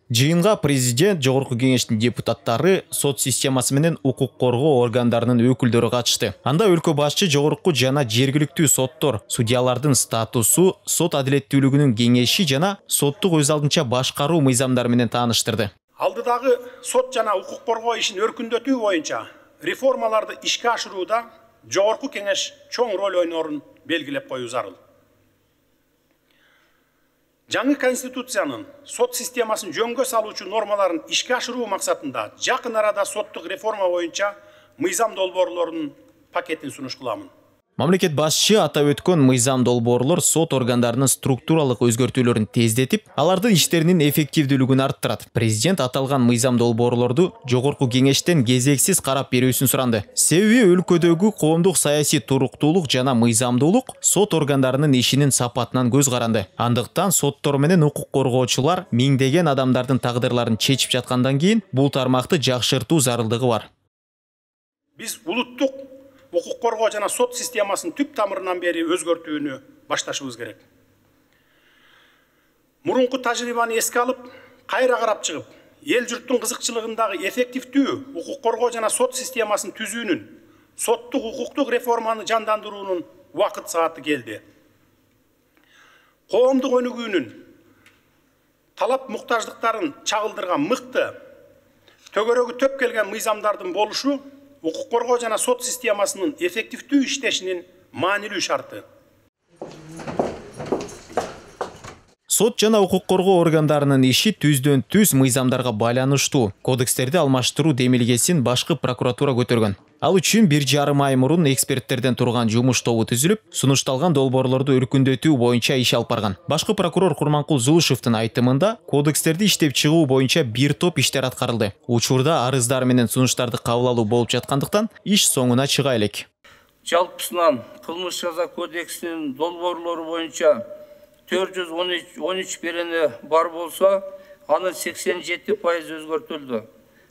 Жыйынга президент, Жогорку кеңештин депутаттары, сот системасы менен укук коргоо органдарынын өкүлдөрү катышты. Анда өлкө башчы жогорку жана жергиликтүү соттор, судьялардын статусу, сот адилеттүүлүгүнүн кеңеши жана соттук өз алдынча башкаруу мыйзамдары менен тааныштырды. Алдыдагы сот жана укук коргоо ишин өркүндөтүү боюнча реформаларды ишке ашырууда жогорку кеңеш чоң роль ойнорун белгилеп коюу зарыл. Жаңы конституциянын сот системасын жөнгө салуучу нормаларын ишке ашыруу максатында жакын арада соттук реформа боюнча мыйзам долбоорлорунун пакетин сунуш кыламын. Мамлекет башчы атап өткөн мыйзам долбоорлор сот органдарынын структуралык өзгөртүүлөрүн тездетип, алардын иштеринин эффективдүүлүгүн арттырат. Президент аталган мыйзам долбоорлорду жогорку кеңештен кезексиз карап берүүсүн суранды. Себеби өлкөдөгү коомдук саясий туруктуулук жана мыйзамдуулук сот органдарынын ишинин сапатынан көз каранды. Андыктан соттор менен укук коргоочулар миңдеген адамдардын тагдырларын чечип жаткандан кийин бул тармакты жакшыртуу зарылдыгы бар. Биз улуттук укук коргоо жана сот системасын түп тамырынан бери өзгөртүүнү башташыбыз керек. Мурунку тажрыйбаны эске алып, кайра карап чыгып, эл журттун кызыкчылыгындагы эффективдүү укук коргоо жана сот системасын түзүүнүн, соттук укуктук реформаны жандандыруунун убакыт сааты келди. Коомдук өнүгүүнүн талап муктаждыктарын чагылдырган мыкты, төгөрөгү төп келген мыйзамдардын болушу укук коргоо жана сот системасынын эффективдүү иштешинин маанилүү шарты. Сот жана укук коргоо органдарынын иши түздөн түз мыйзамдарга байланыштуу. Кодекстерди алмаштыруу демилгесин башкы прокуратура көтөргөн. Ал үчүн 1,5 ай мурун эксперттерден турган жумуш тобу түзүлүп, сунушталган долбоорлорду өркүндөтүү боюнча иш алып барган. Башкы прокурор Курманкул Зулушевдин айтымында, кодекстерди иштеп чыгуу боюнча бир топ иштер аткарылды. Учурда арыздар менен сунуштарды кабыл алуу болуп жаткандыктан иш соңуна чыга элек. Жалпысынан кылмыш жаза кодексинин долбоорлору боюнча 413 берене бар болсо, анын 87% өзгөртүлдү.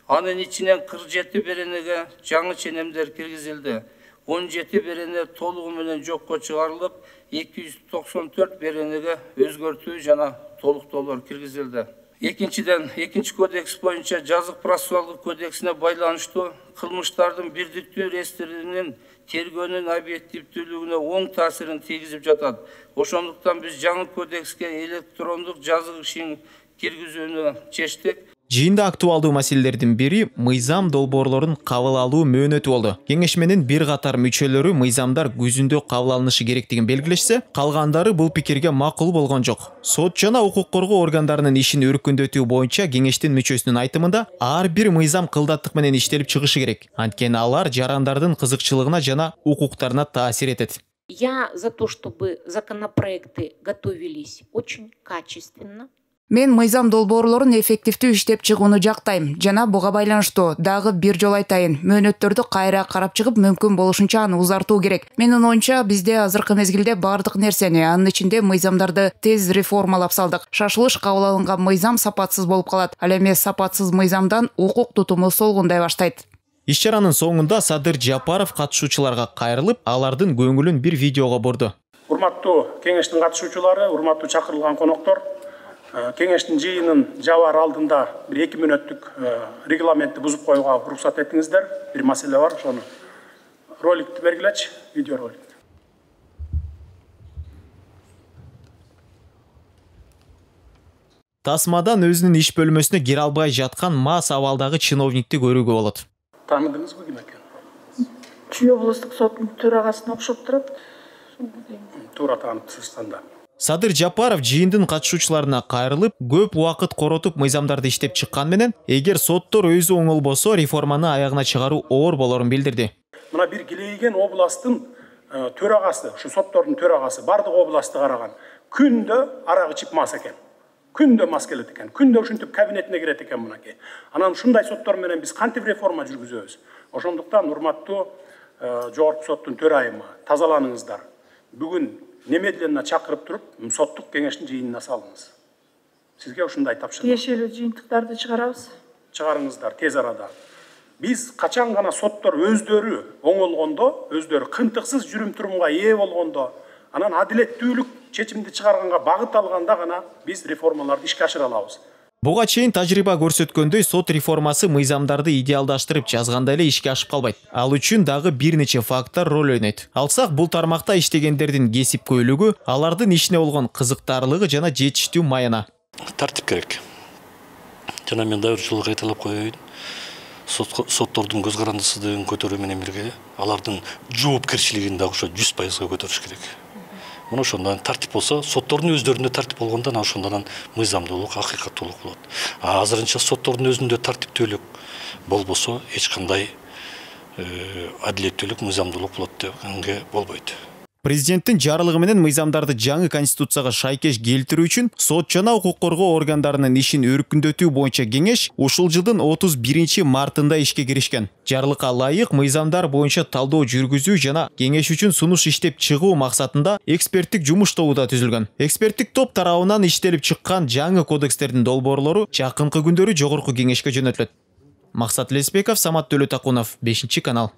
Анын ичинен 47 беренеге жаңы ченемдер киргизилди. 17 берене толугу менен жокко чыгарылып, 294 беренеге өзгөртүү жана толуктоолор киргизилди. Экинчиден, экинчи кодекс боюнча жазык процессуалдык кодексине байланыштуу кылмыштардын бирдиктүү реестринин тергөөнүн объективдүүлүгүнө оң таасирин тийгизип жатат. Ошондуктан биз жаңы кодекске электрондук жазык ишин киргизүүнү чечтик. Жыйында актуалдуу маселелердин бири мыйзам долбоорлорун кабыл алуу мөөнөтү болду. Кеңеш менен бир катар мүчөлөрү мыйзамдар күзүндө кабыл алынышы керектигин белгилешсе, калгандары бул пикирге макул болгон жок. Сот жана укук коргоо органдарынын ишин өркүндөтүү боюнча кеңештин мүчөсүнүн айтымында, ар бир мыйзам кылдаттык менен иштелип чыгышы керек. Анткени алар жарандардын кызыкчылыгына жана укуктарына таасир этет. Я за то, чтобы законопроекты готовились очень качественно. Мен мыйзам долбоорлорун эффективдүү иштеп чыгууну жактайм жана буга байланыштуу дагы бир жолу айтайын, мөөнөттөрдү кайра карап чыгып, мүмкүн болушунча аны узартуу керек. Менин оюмча, бизде азыркы мезгилде бардык нерсени, анын ичинде мыйзамдарды тез реформалап салдык. Шашылыш кабыл алынган мыйзам сапатсыз болуп калат. Ал эми сапатсыз мыйзамдан укук тутуму солгундай баштайт. Иш чаранын соңунда Садыр Жапаров катышуучуларга кайрылып, алардын көңүлүн бир видеого бурду. Урматтуу кеңештин катышуучулары, урматтуу чакырылган коноктор, кеңештин жыйынын жабаар алдында бир 2 мүнөттүк регламентти бузуп коюуга уруксат этиңиздер. Бир маселе бар, ошону роликти бергилечи, видео ролик. Тасмадан өзүнүн иш бөлмөсүнө кире албай жаткан мас абалдагы чиновникти көрүүгө болот. Тааныдыңызбы ким экен? Чүй облустук соттун төрагасына окшоп турат. Туура тааныптсыз анда. Садыр Жапаров жыйындын катышуучуларына кайрылып, көп убакыт коротуп мыйзамдарды иштеп чыккан менен, эгер соттор өзү оңолбосо, реформаны аягына чыгаруу оор болорун билдирди. Мына бир килейген областтын төрагасы, ушу соттордун төрагасы бардык областты караган. Күндө арак ичип мас экен. Күндө мас келет экен. Күндө ушинтип кабинетине кирет экен мынакей. Анан ушундай соттор менен биз кантип реформа жүргүзөбүз? Ошондуктан урматтуу жогорку соттун төрайымы, тазаланыңыздар. Бүгүн немедленно чакырып туруп, соттук кеңештин жыйынына салыңыз. Сизге ушундай тапшырма. Тиешелүү жыйынтыктарды чыгарабыз. Чыгарыңыздар тез арада. Биз качан гана соттор өздөрү оңолгондо, өздөрү кынтыксыз жүрүм-турумга ээ болгондо, анан адилеттүүлүк чечимди чыгарганга багыт алганда гана биз реформаларды ишке ашыра алабыз. Буга чейин тажрыйба көрсөткөндөй, сот реформасы мыйзамдарды идеалдаштырып жазганда эле ишке ашып калбайт. Ал үчүн дагы бир нече фактор роль ойнойт. Алсак, бул тармакта иштегендердин кесипкөйлүгү, алардын ишине болгон кызыктарлыгы жана жетиштүү майына. Тартип керек. Жана мен дагы бир жолу кайталап коеюн. Соттордун көз карандысыздыгын көтөрүү менен бирге алардын жоопкерчилигин дагы ошо 100% көтөрүш керек. Мына ошондон тартип болсо, соттордун өздөрүндө тартип болгондо ошондон мыйзамдуулук, акыйкаттуулук болот. Азырынча соттордун өзүндө тартиптүүлүк болбосо, эч кандай адилеттүүлүк, мыйзамдуулук болот дегенге болбойт. Президенттин жарлыгы менен мыйзамдарды жаңы конституцияга шайкеш келтирүү үчүн сот жана укук коргоо органдарынын ишин өркүндөтүү боюнча кеңеш ушул жылдын 31 мартында ишке киришкен. Жарлыкка ылайык мыйзамдар боюнча талдоо жүргүзүү жана кеңеш үчүн сунуш иштеп чыгуу максатында эксперттик жумуш тобу да түзүлгөн. Эксперттик топ тарабынан иштелип чыккан жаңы кодекстердин долбоорлору жакынкы күндөрү жогорку кеңешке жөнөтүлөт. Максат Леспеков, Самат Төлөтакунов, 5 канал.